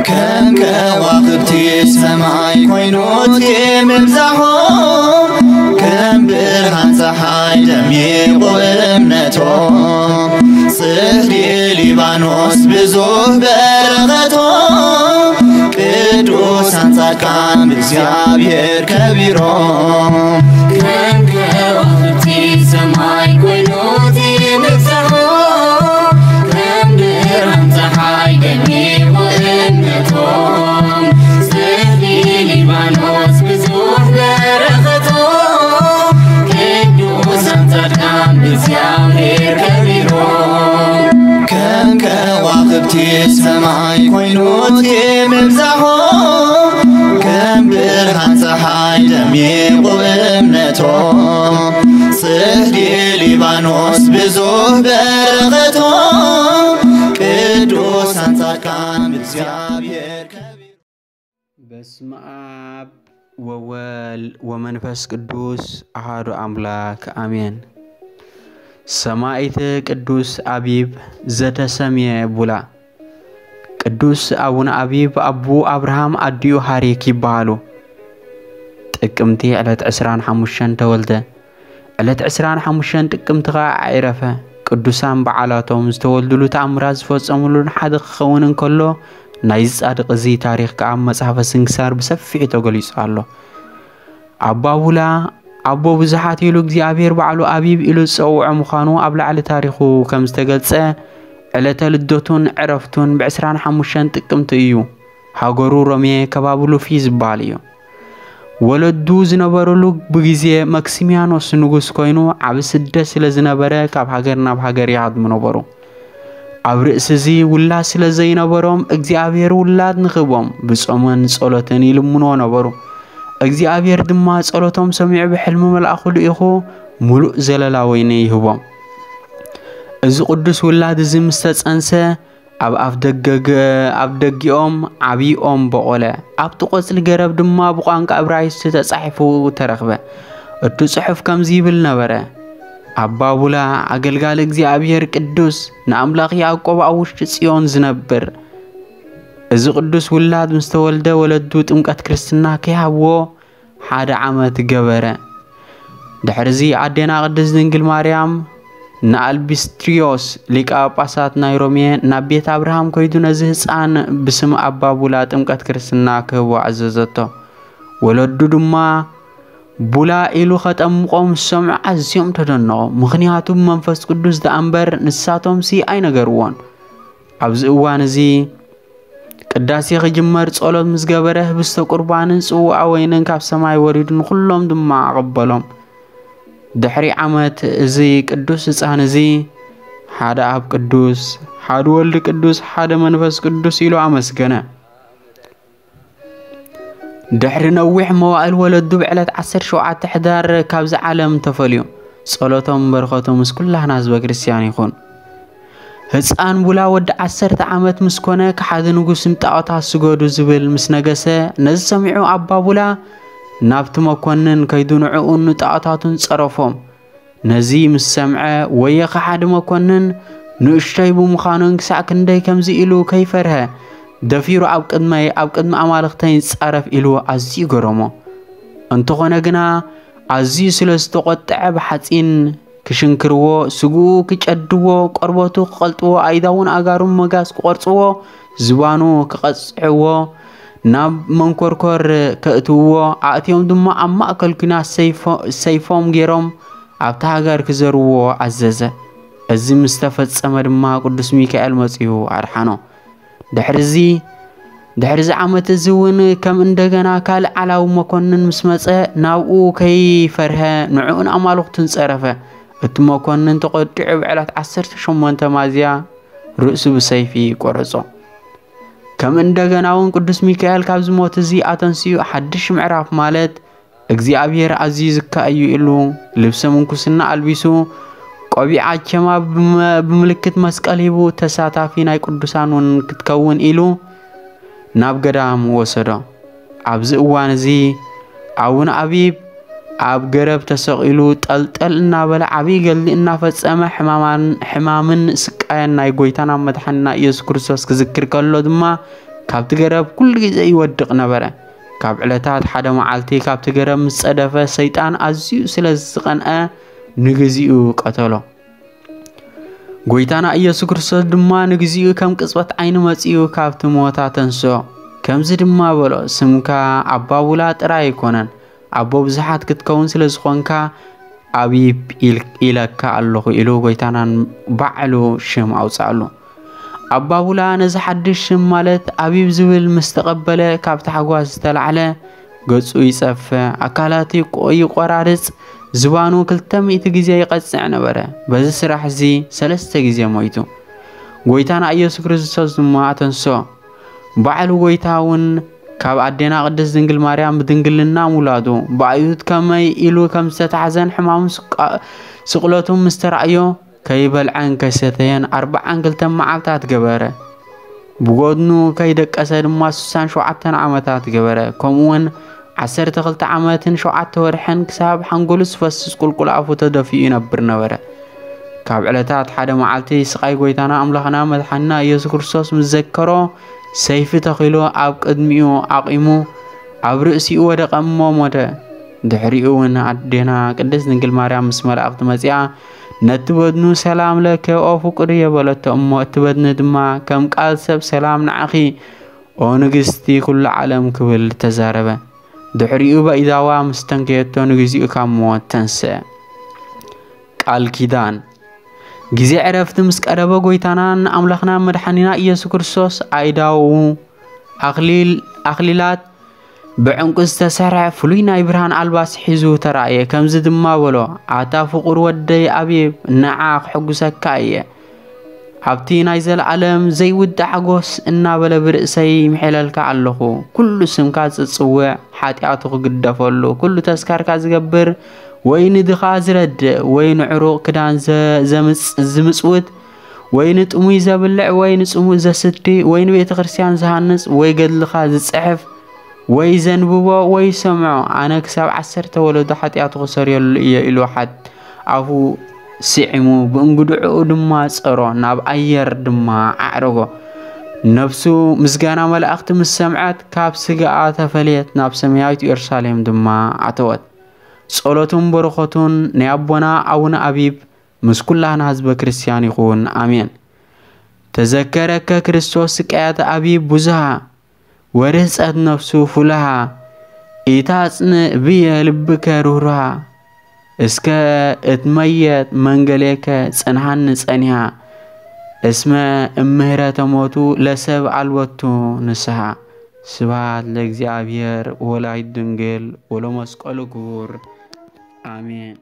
ከም ከዋኽብቲ ሰማይ ኮይኑ እቲ ምብዛሖም፣ ከም ብርሃን ጸሓይ ደሚቑ እምነቶም፣ ጽድ ሊባኖስ ብዙህ በረኸቶም፣ ቅዱሳን ጻድቃን ብእግዚኣብሔር ከቢሮም። ከም ከዋኽብቲ ሰማይ ኮይኑ እቲ ምብዛሖም፣ ከም ብርሃን ጸሓይ ደሚቑ እምነቶም፣ ጽድ ሊባኖስ ብዙህ በረኸቶም፣ ቅዱሳን ጻድቃን ብእግዚኣብሔር ከቢሮም። ከም ከዋኽብቲ ሰማይ ኮይኑ እቲ ምብዛሖም፣ ከም ብርሃን ጸሓይ ደሚቑ እምነቶም፣ ጽድ ሊባኖስ ብዙህ በረኸቶም፣ ቅዱሳን ጻድቃን ብእግዚኣብሔር ከቢሮም። በስመ አብ ወወልድ ወመንፈስ ቅዱስ አሐዱ አምላክ አሜን። ሰማዕት ቅዱስ አቢብ ዘተሰምየ ቡላ። ቅዱስ አቡነ አቢብ አቡ አብርሃም አዲኡ ሐሪክ ይበሃሉ። ጥቅምቲ ዕለት ዕስራን ሓሙሽተን ተወልደ። ዕለት ዕስራን ሓሙሽተን ጥቅምቲ ኸዓ ኣዕረፈ። ቅዱሳን በዓላቶም፣ ዝተወልዱሉ ተኣምራት ዝፈጸሙሉን ሓደ ክኸውን እንከሎ፣ ናይዚ ጻድቕ እዚ ታሪኽ ከኣ ኣብ መጽሓፈ ስንክሳር ብሰፊሑ ተገሊጹ ኣሎ። ኣባ ቡላ፣ ኣቦ ብዙሓት ኢሉ እግዚኣብሔር ባዕሉ ኣቢብ ኢሉ ዝጸውዖ ምዃኑ ኣብ ላዕሊ ታሪኹ ከም ዝተገልጸ፣ ዕለተ ልደቱን ዕረፍቱን ብዕስራን ሓሙሽተን ጥቅምቲ እዩ። ሃገሩ ሮሜ፣ ከባቢ ሉፊ ዝበሃል እዩ። ወለዱ ዝነበሩሉ ብግዜ መክሲሚያኖስ ንጉስ ኮይኑ ዓቢ ስደት ስለ ዝነበረ ካብ ሃገር ናብ ሃገር ይሃድሙ ነበሩ። ኣብ ርእሲ እዚ ውላድ ስለ ዘይነበሮም እግዚኣብሔር ውላድ ንኽህቦም ብጾምን ጸሎትን ይልምንዎ ነበሩ። እግዚኣብሔር ድማ ጸሎቶም ሰሚዑ ብሕልሚ መልኣኹ ልኢኹ ምሉእ ዘለላ ወይኒ ይህቦም። እዚ ቅዱስ ውላድ እዚ ምስ ተጸንሰ ኣብ ኣፍ ደገ ገ-፣ ኣብ ደጊኦም ዓቢ ኦም በቖለ። ኣብቲ ቆጽሊ ገረብ ድማ ብቋንቋ እብራይስጥ ተጻሒፉ ተረኽበ። እቲ ጽሑፍ ከምዚ ይብል ነበረ፣ ኣባ ቡላ ኣገልጋሊ እግዚኣብሔር ቅዱስ ንኣምላኽ ያዕቆብ ኣብ ውሽጢ ጽዮን ዝነብር። እዚ ቅዱስ ውላድ ምስ ተወልደ ወለዱ ጥምቀት ክርስትና ከይሃብዎ ሓደ ዓመት ገበረ። ድሕርዚ ኣዴና ቅድስት ድንግል ማርያም ንኣልቢስትሪዮስ ሊቀ ጳጳሳት ናይ ሮሜ ናብ ቤት ኣብርሃም ከይዱ ነዚ ህፃን ብስም ኣባ ቡላ ጥምቀት ክርስትና ክህቦ ኣዘዘቶ። ወለዱ ድማ ቡላ ኢሉ ኸጠምቖም ዝሰምዑ ኣዝዮም ተደነቑ። ምኽንያቱ ብመንፈስ ቅዱስ ደኣ እምበር ንሳቶምሲ ኣይነገርዎን። ኣብዚ እዋን እዚ ቅዳሴ ክጅመር ጸሎት ምስ ገበረ፣ ህብስተ ቁርባንን ጽዋኣ ወይንን ካብ ሰማይ ወሪዱ ንኹሎም ድማ ኣቐበሎም። ድሕሪ ዓመት እዚ ቅዱስ ህጻን እዚ ሓደ ኣብ ቅዱስ፣ ሓደ ወልድ ቅዱስ፣ ሓደ መንፈስ ቅዱስ ኢሉ ኣመስገነ። ድሕሪ ነዊሕ መዋእል ወለዱ ብዕለት ዓሰርተ ሸውዓተ ሕዳር ካብዚ ዓለም ተፈልዩ። ጸሎቶም በረኸቶም ምስ ኩላህና ህዝበ ክርስቲያን ይኹን። ህፃን ቡላ ወዲ ዓሰርተ ዓመት ምስ ኮነ፣ ከሓዲ ንጉስ ንጣዖታት ስገዱ ዝብል ምስ ነገሰ፣ ነዚ ሰሚዑ ኣባ ቡላ ናብቲ መኮንን ከይዱ ንዕኡን ንጣዖታቱን ጸረፎም። ነዚ ምስ ሰምዐ፣ ወየ ከሓዲ መኮንን ንእሽቶይ ብምዃኑን ክሳዕ ክንደይ ከምዚ ኢሉ ከይፈርሀ፣ ደፊሩ ኣብ ቅድመይ፣ ኣብ ቅድሚ ኣማልኽተይ ይጻረፍ ኢሉ ኣዝዩ ገረሞ። እንተኾነ ግና፣ ኣዝዩ ስለ ዝተቖጥዐ ብሓጺን ክሽንክርዎ፣ ስግኡ ክጨድዎ፣ ቆርበቱ ክቐልጥዎ፣ ኣይዳውን ኣእጋሩን መጋዝ ክቖርጽዎ፣ ዝባኑ ክቐጽዕዎ፣ ናብ መንኮርኮር ከእትውዎ፣ ኣእትዮም ድማ ኣብ ማእከል ኲናት ሰይፎ-፣ ሰይፎም ገይሮም ኣብታ ሃገር ክዘርዎ ኣዘዘ። እዚ ምስ ተፈጸመ ድማ ቅዱስ ሚካኤል መጺኡ ኣድሓኖ። ድሕርዚ፣ ድሕርዚ ዓመት እዚ እውን ከም እንደገና ካልእ ዓላዊ መኮንን ምስ መጸ፣ ናብኡ ከይፈርሀ ንዕኡን ኣማልኽቱን ጸረፈ። እቲ መኮንን ተቖጢዑ ብዕለት ዓሰርተ ሸሞንተ ሚያዝያ ርእሱ ብሰይፊ ቆረጾ። ከም እንደገና እውን ቅዱስ ሚካኤል ካብዚ ሞት እዚ ኣተንሲኡ ሓድሽ ምዕራፍ ማለት እግዚኣብሔር ኣዝዩ ዝካእ እዩ ኢሉ ልብሰ ምንኩስና ኣልቢሱ፣ ቆቢዕ ኣቸማ ብመ-፣ ብምልክት መስቀል ሂቡ፣ ተሳታፊ ናይ ቅዱሳን እውን ክትከውን ኢሉ ናብ ገዳም ወሰዶ። ኣብዚ እዋን እዚ ኣቡነ ኣቢብ ኣብ ገረብ ተሰቒሉ ጠልጠል እናበለ ዓብዪ ገድሊ እናፈጸመ ሕማማን-፣ ሕማምን ስቃየን ናይ ጎይታና መድሓኒና ኢየሱስ ክርስቶስ ክዝክር ከሎ ድማ ካብቲ ገረብ ኩሉ ግዜ ይወድቕ ነበረ። ካብ ዕለታት ሓደ መዓልቲ ካብቲ ገረብ ምስ ጸደፈ ሰይጣን ኣዝዩ ስለ ዝቐንአ ንግዚኡ ቀተሎ። ጎይታና ኢየሱስ ክርስቶስ ድማ ንግዚኡ ከም ቅጽበት ዓይኒ መጺኡ ካብቲ ሞት ኣተንስኦ። ከምዚ ድማ በሎ፣ ስምካ ኣባቡላ ጥራይ ኣይኮነን፣ ኣቦ ብዙሓት ክትከውን ስለ ዝኾንካ ኣቢብ ኢል-፣ ኢለካ ኣለኹ ኢሉ ጎይታናን ባዕሉ ሽም ኣውጽኣሉ። ኣባቡላ ነዚ ሓድሽ ሽም ማለት ኣቢብ ዝብል ምስ ተቐበለ ካብ ታሕጓስ ዝተላዕለ ገጹ ይጸፍዕ፣ ኣካላቱ ይቆ-፣ ይቆራርጽ፣ ዝባኑ ክልተ ሚእቲ ግዜ ይቐጽዕ ነበረ። በዚ ስራሕ እዚ ሰለስተ ግዜ ሞይቱ። ጎይታና ኢየሱስ ክርስቶስ ድማ ኣተንስኦ። ባዕሉ ጎይታ እውን ካብ ኣዴና ቅድስት ድንግል ማርያም ብድንግልና ምውላዱ፣ ብኣይሁድ ከመይ ኢሉ ከም ዝተታሕዘን ሕማሙ ስቃ-፣ ስቕለቱ ምስ ተራእዮ፣ ከይበልዐን ከይሰተየን ኣርብዓን ክልተን መዓልታት ገበረ። ብጎድኑ ከይደቀሰ ድማ ስሳን ሸውዓተን ዓመታት ገበረ። ከምኡውን ዓሰርተ ክልተ ዓመትን ሸውዓተ ወርሕን ክሳብ ሓንጎሉ ዝፈስስ ቁልቁል ኣፉ ተደፊኡ ይነብር ነበረ። ካብ ዕለታት ሓደ መዓልቲ ስቓይ ጎይታና ኣምላኽና መድሓኒና ኢየሱስ ክርስቶስ ምስ ዘከሮ፣ ሰይፊ ተኺሉ ኣብ ቅድሚኡ ኣቑሙ፣ ኣብ ርእሲኡ ወደቐ እሞ ሞተ። ድሕሪኡ እውን ኣዴና ቅድስት ድንግል ማርያም ምስ መላእኽቲ መጺኣ፣ ነቲ በድኑ ሰላም ለከ ኦ ፍቁርየ በለቶ እሞ፣ እቲ በድኒ ድማ ከም ቃል ሰብ ሰላም ንዓኺ ኦ ንግስቲ ኩሉ ዓለም ክብል ተዛረበ። ድሕሪኡ በኢዳዋ ምስ ተንከየቶ ንግዚኡ ካብ ሞት ተንስአ። ቃል ኪዳን። ግዜ ዕረፍቲ ምስ ቀረበ ጎይታናን ኣምላኽና መድሓኒና ኢየሱስ ክርስቶስ ኣኢዳዉ ኣኽሊል-፣ ኣኽሊላት ብዕንቁ ዝተሰርሐ ፍሉይ ናይ ብርሃን ኣልባስ ሒዙ ተራእየ። ከምዚ ድማ በሎ፣ ኣታ ፍቑር ወደይ ኣቢብ፣ ንዓ ክሕጉሰካ እየ። ኣብቲ ናይ ዘለኣለም ዘይውዳእ ሓጎስ እናበለ ብርእሰይ ይምሕለልካ ኣለኹ። ኩሉ ስምካ ዝጽውዕ፣ ሓጢኣቱ ክግደፈሉ፣ ኩሉ ተስካርካ ዝገብር፣ ወይ ንድኻ ዝረድእ፣ ወይ ንዕሩቕ ክዳን ዘ-፣ ዘምጽ-፣ ዝምጽውት፣ ወይ ንጥሙይ ዘብልዕ፣ ወይ ንጽሙእ ዘስቲ፣ ወይ ንቤተ ክርስቲያን ዝሃንጽ፣ ወይ ገድልኻ ዝጽሕፍ፣ ወይ ዘንብቦ፣ ወይ ይሰምዖ፣ ኣነ ክሳብ ዓሰርተ ወለዶ ሓጢኣቱ ክሰርየሉ እየ ኢሉ ሓት-፣ ኣፉ ስዒሙ፣ ብእንግድዕኡ ድማ ጸሮ፣ ናብ ኣየር ድማ ኣዕረጎ። ነፍሱ ምስጋና መላእኽቲ ምስ ሰምዐት፣ ካብ ስጋኣ ተፈልየት፣ ናብ ሰማያዊት ኢየሩሳሌም ድማ ኣተወት። ጸሎቱን በረኸቱን ናይ ኣቦና ኣቡነ ኣቢብ ምስ ኩላህና ህዝበ ክርስቲያን ይኹን። ኣሜን። ተዘከረከ ክርስቶስ ስቃያት ኣቢብ ብዙሃ፣ ወርህጸት ነፍሱ ፍሉሃ፣ ኢታጽንእ ብየ ልብከ ርህሩሃ፣ እስከ እትመየጥ መንገሌከ ጽንሃኒ ጸኒሃ፣ እስመ እምህረተ ሞቱ ለሰብ ኣልወቱ ንስሃ። ስብሐት ለእግዚኣብሔር ወላዲቱ ድንግል ወለመስቀሉ ክቡር። ኣሜን።